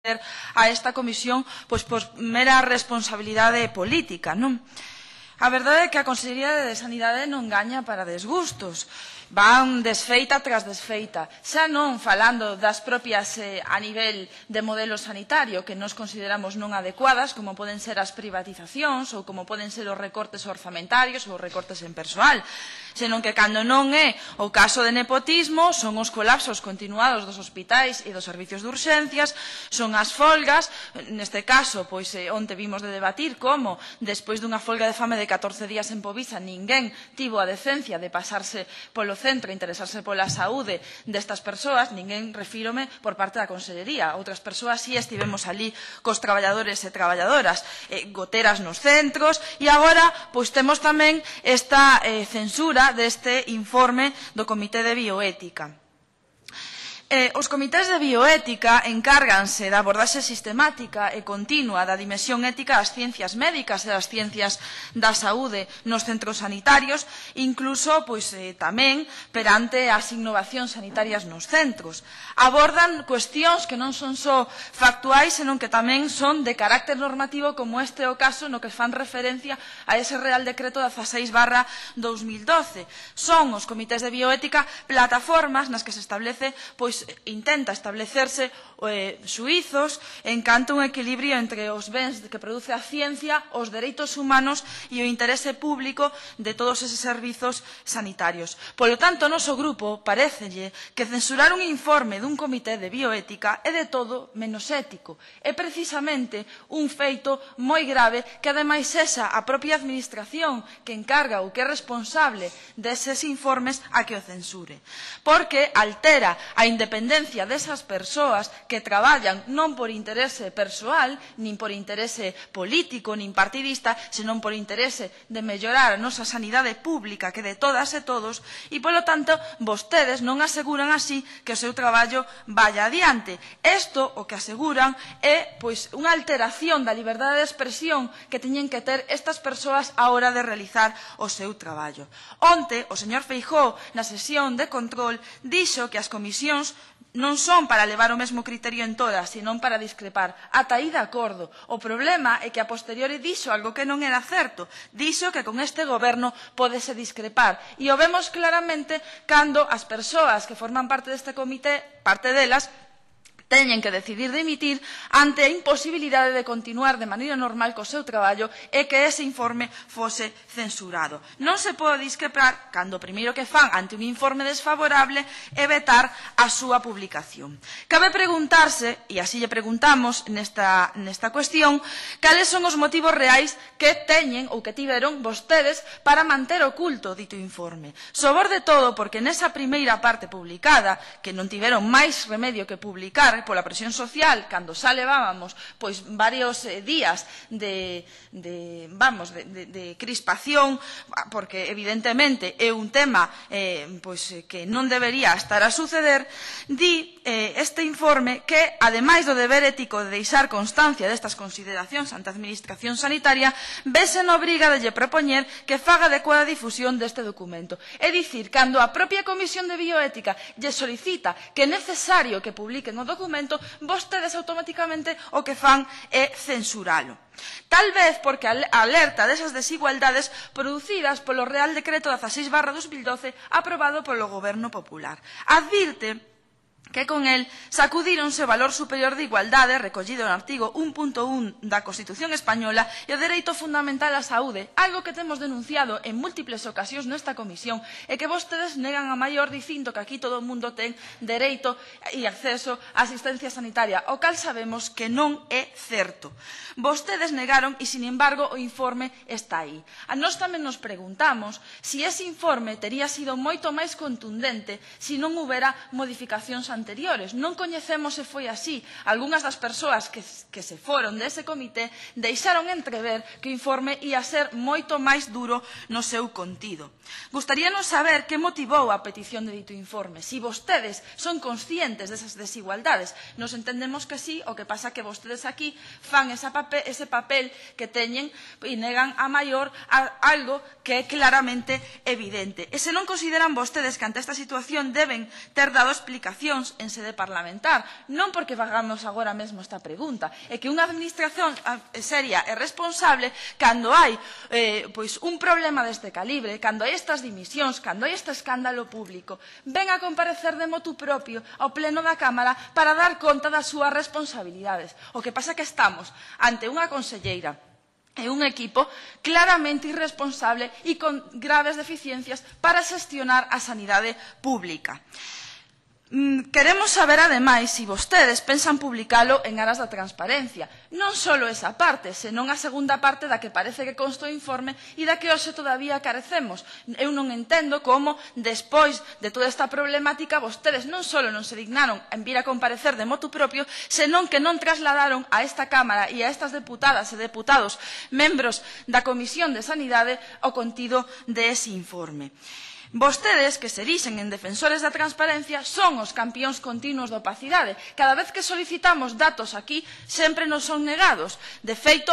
a esta comisión pois por mera responsabilidade política, non? A verdade é que a Consellería de Sanidade non gaña para desgustos. Van desfeita tras desfeita, xa non falando das propias a nivel de modelo sanitario que nos consideramos non adecuadas, como poden ser as privatizacións ou como poden ser os recortes orzamentarios ou os recortes en persoal, senón que cando non é o caso de nepotismo son os colapsos continuados dos hospitais e dos servicios de urxencias, son as folgas, neste caso, pois onte vimos de debatir como despois dunha folga de fame de 14 días en Povisa ninguén tivo a decencia de pasarse polo centro e interesarse pola saúde destas persoas, ninguén refírome por parte da Consellería, outras persoas si estivemos ali cos traballadores e traballadoras, goteras nos centros, e agora pois temos tamén esta censura deste informe do Comité de Bioética. Os comités de bioética encárganse da abordaxe sistemática e continua da dimensión ética das ciencias médicas e das ciencias da saúde nos centros sanitarios, incluso tamén perante as innovacións sanitarias nos centros. Abordan cuestións que non son só factuais, senón que tamén son de carácter normativo, como este o caso no que fan referencia a ese Real Decreto 16/2012. Son os comités de bioética plataformas nas que se establece intenta establecerse xuízos en canto a un equilibrio entre os bens que produce a ciencia, os dereitos humanos e o interese público de todos eses servizos sanitarios. Polo tanto, o noso grupo parécelle que censurar un informe dun comité de bioética é de todo menos ético. É precisamente un feito moi grave que, ademais, esa a propia administración que encarga ou que é responsable deses informes a que o censure. Porque altera a independencia desas persoas que traballan non por interese persoal, nin por interese político, nin partidista, senón por interese de mellorar a nosa sanidade pública, que de todas e todos, e, polo tanto, vostedes non aseguran así que o seu traballo vaya adiante. Isto o que aseguran é unha alteración da liberdade de expresión que teñen que ter estas persoas á hora de realizar o seu traballo. Onte, o señor Feijóo, na sesión de control, dixo que as comisións non son para levar o mesmo criterio en todas, senón para discrepar. Ata aí de acordo. O problema é que a posteriori dixo algo que non era certo. Dixo que con este goberno pódese discrepar. E o vemos claramente cando as persoas que forman parte deste comité, parte delas, teñen que decidir dimitir ante a imposibilidade de continuar de maneira normal co seu traballo e que ese informe fose censurado. Non se pode discrepar cando o primeiro que fan ante un informe desfavorable é vetar a súa publicación. Cabe preguntarse, e así lle preguntamos nesta cuestión, cales son os motivos reais que teñen ou que tiveron vostedes para manter oculto dito informe. Sobre todo porque nesa primeira parte publicada, que non tiveron máis remedio que publicar pola presión social, cando xa levábamos varios días de crispación, porque evidentemente é un tema que non debería estar a suceder, di este informe que, ademais do deber ético de deixar constancia destas consideracións ante a administración sanitaria, vese na obriga de lle propoñer que faga adecuada difusión deste documento. É dicir, cando a propia Comisión de Bioética lle solicita que é necesario que publiquen o documento, vostedes automáticamente o que fan é censuralo. Tal vez porque alerta desas desigualdades producidas polo Real Decreto 16/2012 aprobado polo Goberno Popular. Advirte que con el sacudíronse o valor superior de igualdade recollido no artigo 1.1 da Constitución Española e o dereito fundamental á saúde, algo que temos denunciado en múltiples ocasións nesta comisión e que vostedes negan a maior dicindo que aquí todo o mundo ten dereito e acceso á asistencia sanitaria, o cal sabemos que non é certo. Vostedes negaron e, sin embargo, o informe está aí. A nós tamén nos preguntamos se ese informe tería sido moito máis contundente se non houbera modificacións anteriores. Non coñecemos se foi así. Algúnas das persoas que se foron dese comité deixaron entrever que o informe ia ser moito máis duro no seu contido. Gustaríanos saber que motivou a petición de dito informe. Si vostedes son conscientes desas desigualdades, nos entendemos que sí, o que pasa que vostedes aquí fan ese papel que teñen e negan a maior algo que é claramente evidente. E se non consideran vostedes que ante esta situación deben ter dado explicacións cuestións en sede parlamentar, non porque fagamos agora mesmo esta pregunta, é que unha administración seria e responsable, cando hai un problema deste calibre, cando hai estas dimisións, cando hai este escándalo público, ven a comparecer de motu propio ao pleno da Cámara para dar conta das súas responsabilidades. O que pasa é que estamos ante unha conselleira e un equipo claramente irresponsable e con graves deficiencias para xestionar a sanidade pública. Queremos saber, ademais, se vostedes pensan publicalo en aras da transparencia. Non só esa parte, senón a segunda parte da que parece que consta o informe e da que hoxe todavía carecemos. Eu non entendo como, despois de toda esta problemática, vostedes non só non se dignaron en vir a comparecer de motu propio, senón que non trasladaron a esta Cámara e a estas deputadas e deputados membros da Comisión de Sanidade o contido dese informe. Vostedes, que se erixen en defensores da transparencia, son os campións continuos da opacidade. Cada vez que solicitamos datos aquí, sempre nos son negados. De feito,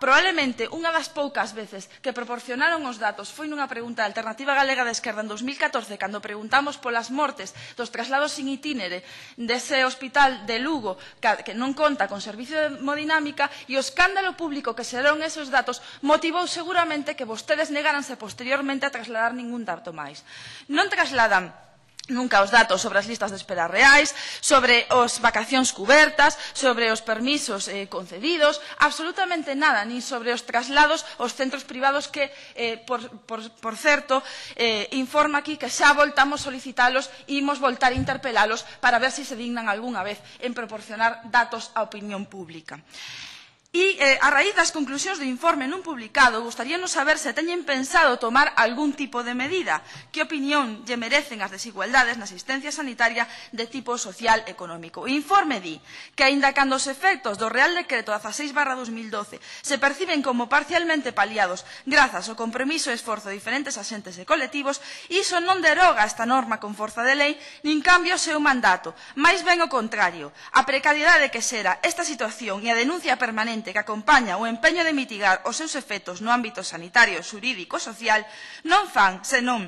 probablemente unha das poucas veces que proporcionaron os datos foi nunha pregunta da Alternativa Galega de Esquerda en 2014, cando preguntamos polas mortes dos traslados sin itinere dese hospital de Lugo, que non conta con servicio de hemodinámica, e o escándalo público que xerou esos datos motivou seguramente que vostedes negaranse posteriormente a trasladar ningún dato máis. Non trasladan nunca os datos sobre as listas de espera reais, sobre as vacacións cubertas, sobre os permisos concedidos, absolutamente nada, nin sobre os traslados aos centros privados que, por certo, informa aquí que xa voltamos solicitalos e imos voltar a interpelalos para ver se se dignan algunha vez en proporcionar datos á opinión pública. E, a raíz das conclusións do informe non publicado, gustaríanos saber se teñen pensado tomar algún tipo de medida. Que opinión lle merecen as desigualdades na asistencia sanitaria de tipo social e económico? O informe di que, aínda cando os efectos do Real Decreto 16/2012 se perciben como parcialmente paliados grazas ao compromiso e esforzo de diferentes axentes e colectivos, iso non deroga esta norma con forza de lei, nin cambia o seu mandato. Mais ben o contrario, a precariedade que xera esta situación e a denuncia permanente que acompaña o empeño de mitigar os seus efectos no ámbito sanitario, xurídico e social non fan senón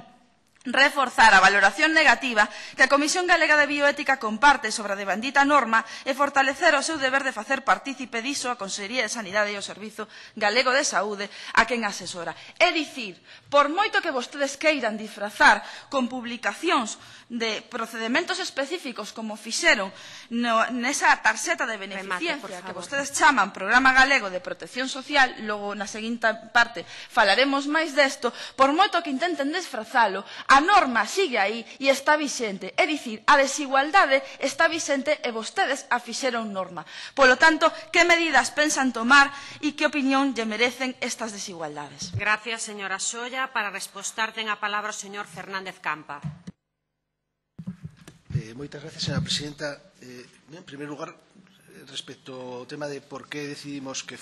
reforzar a valoración negativa que a Comisión Galega de Bioética comparte sobre a devandita norma e fortalecer o seu deber de facer partícipe diso a Consellería de Sanidade e o Servizo Galego de Saúde a quen asesora. É dicir, por moito que vostedes queiran disfrazar con publicacións de procedementos específicos como fixeron nesa tarxeta de beneficiencia que vostedes chaman Programa Galego de Protección Social, logo na seguinte parte falaremos máis desto, por moito que intenten disfrazalo, a norma sigue aí e está vixente. É dicir, a desigualdade está vixente e vostedes a fixeron norma. Polo tanto, que medidas pensan tomar e que opinión lle merecen estas desigualdades? Gracias, señora Solla. Para respostar, ten a palabra o señor Fernández Campa. Moitas gracias, señora presidenta. En primer lugar, respecto ao tema de por que decidimos que